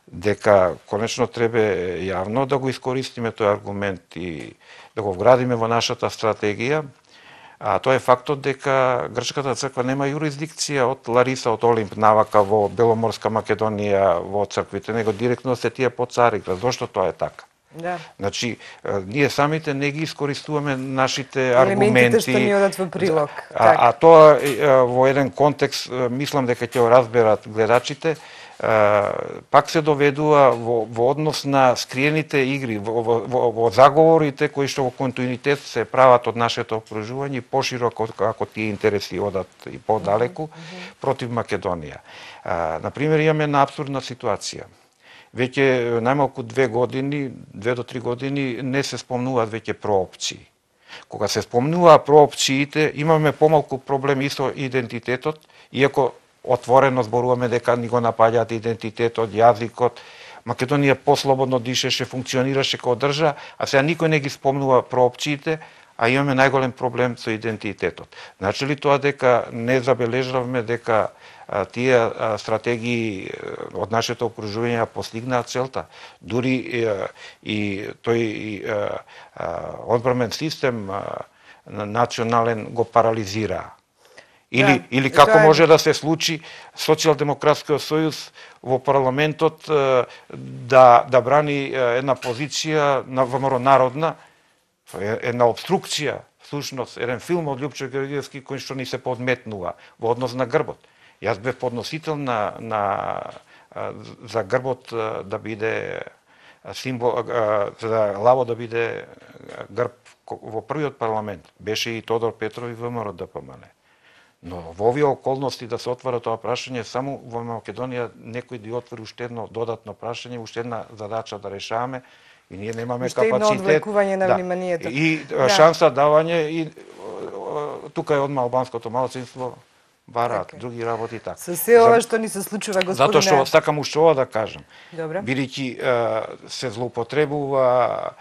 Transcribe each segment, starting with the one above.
дека конечно треба јавно да го искористиме тој аргумент и да го вградиме во нашата стратегија. А тоа е фактот дека Грчката црква нема юрисдикција од Лариса, од Олимп навака во Беломорска Македонија во црквите, него директно се тие по Цариград. Зошто тоа е така? Да. Значи, ние самите не ги искористуваме нашите аргументи. Елементите што ни одат во прилог. А тоа во еден контекст, мислам дека ќе го разберат гледачите, пак се доведува во однос на скриените игри, во заговорите кои што во континуитет се прават од нашето окружување пошироко ако тие интереси одат и подалеку против Македонија. Например, имаме една апсурдна ситуација. Веќе најмалку 2 до 3 години не се спомнуваат веќе проопции. Кога се спомнуваа проопциите, имаме помалку проблеми со идентитетот, иако отворено зборуваме дека ни го напаѓаат идентитетот, јазикот. Македонија послободно дишеше, функционираше како држава, а сега никој не ги спомнува проопциите, а имаме најголем проблем со идентитетот. Значи ли тоа дека не забележавме дека тие стратегии од нашето окружување постигнаат целта? Дури и тој одбранен систем национален го парализираа. Или како може да се случи Социјалдемократскиот сојуз во парламентот да брани една позиција на ВМРО народна, една обструкција, всушност еден филм од Љупчо Георгиевски кој што ни се подметнува во однос на грбот. Јас бев подносител за грбот да биде символ, за лаво да биде грб во првиот парламент. Беше и Тодор Петров и ВМРО ДПМН. Но во овие околности да се отвара тоа прашање, само во Македонија некој да отвори уште едно додатно прашање, уште една задача да решаваме и ние немаме капацитет. Уште едно одвлекување на вниманието. И шанса давање и тука е одма албанското малцинство бараат други работи така. Со се ова што ни се случува, господине. Затоа што сакам уште ова да кажам. Добре. Бидејќи се злоупотребува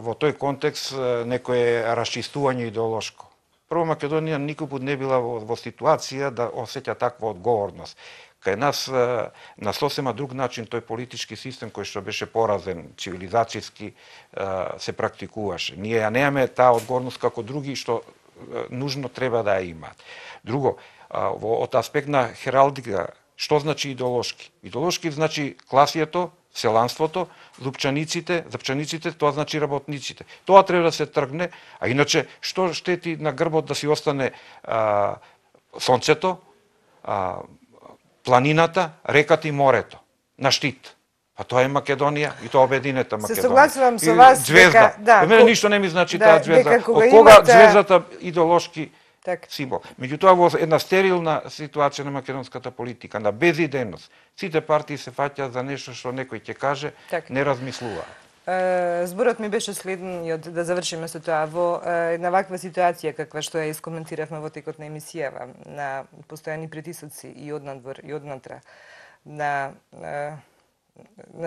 во тој контекст некое расчистување идеолошко. Прво, Македонија никогу не била во ситуација да осеќа таква одговорност. Кај нас на сосема друг начин тој политички систем кој што беше поразен, цивилизацијски се практикуваше. Ние ја немаме таа одговорност како други што нужно треба да ја имаат. Друго, од аспект на хералдика, што значи идеолошки? Идеолошки значи класието, селанството, запчаниците, тоа значи работниците. Тоа треба да се тргне, а иначе што штети на грбот да си остане сонцето, планината, реката и морето на штит. А тоа е Македонија и тоа обединета Македонија. Се согласувам со вас дека мене ништо не ми значи таа звезда. Од кога звездата идеолошки символ. Меѓутоа во една стерилна ситуација на македонската политика, на безидејност, сите партии се фаќаат за нешто што некој ќе каже, не размислува. Зборот ми беше следниот, да завршиме со тоа. Во една ваква ситуација каква што ја искоментиравме во текот на емисијава, на постојани притисоци и однадвор и однатра, на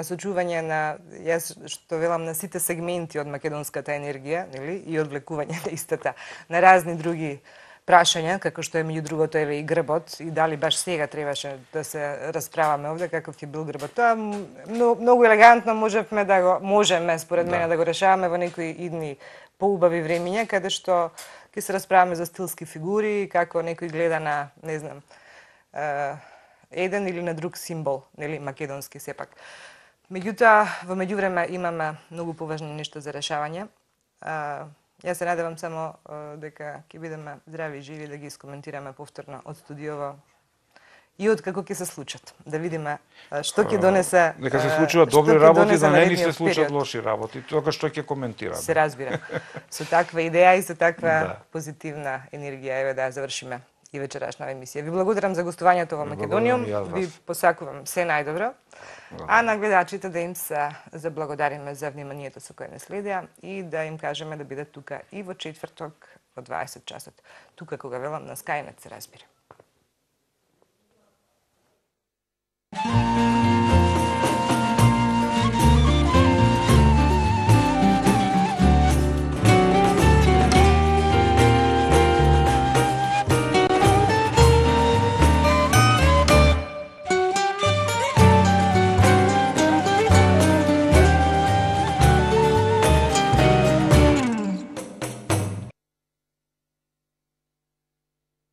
сочување на, јас што велам, на сите сегменти од македонската енергија, нели, и одвлекување на истата, на разни други прашања, како што е меѓу другото еве и грбот, и дали баш сега требаше да се расправаме овде каков ќе бил грбот. Тоа многу елегантно можеме според мене да го решаваме во некои идни поубави времиња, каде што ќе се расправаме за стилски фигури, како некој гледа на, не знам, еден или на друг символ, нели, македонски сепак. Меѓутоа, во меѓувреме имаме многу поважни нешта за решавање. Јас се надевам само дека ќе бидеме здрави и живи да ги искоментираме повторно од студиово и од како ќе се случат. Да видиме што ќе донесе. Дека се случуваат добри работи, да не ни се случат лоши работи. Тоа што ќе коментираме. Се разбира. Со таква идеја и со таква позитивна енергија, еве да завршиме и вечерашна емисија. Ви благодарам за гостувањето во Македониум. Ви посакувам се најдобро. А на гледачите да им се заблагодариме за вниманието со кое не следеа и да им кажеме да бидат тука и во четврток во 20 часот. Тука кога велам на Skynet се разбира.